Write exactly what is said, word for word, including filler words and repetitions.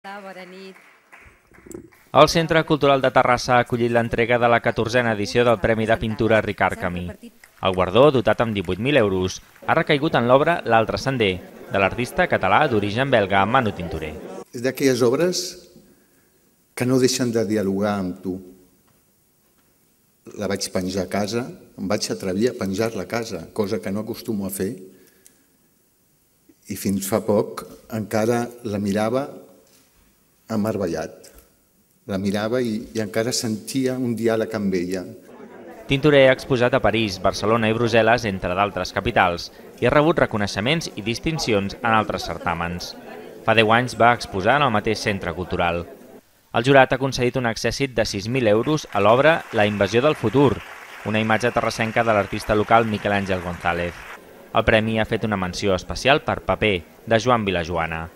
Bona nit. El Centre Cultural de Terrassa ha acollit l'entrega de la catorzena edició del Premi de Pintura Ricard Camí. El guardó, dotat amb divuit mil euros, ha recaigut en l'obra L'altre sender, de l'artista català d'origen belga Manu Tintorer. És d'aquelles obres que no deixen de dialogar amb tu. La vaig penjar a casa, em vaig atrevir a penjar-la a casa, cosa que no acostumo a fer, i fins fa poc encara la mirava emmervellat. La mirava i, i encara sentia un diàleg amb ella. Tintorer ha exposat a París, Barcelona i Brussel·les, entre d'altres capitals, i ha rebut reconeixements i distincions en altres certàmens. Fa deu anys va exposar en el mateix centre cultural. El jurat ha concedit un accèssit de sis mil euros a l'obra La invasió del futur, una imatge terrassenca de l'artista local Miquel Àngel González. El premi ha fet una menció especial per Paper, de Joan Vilajoana.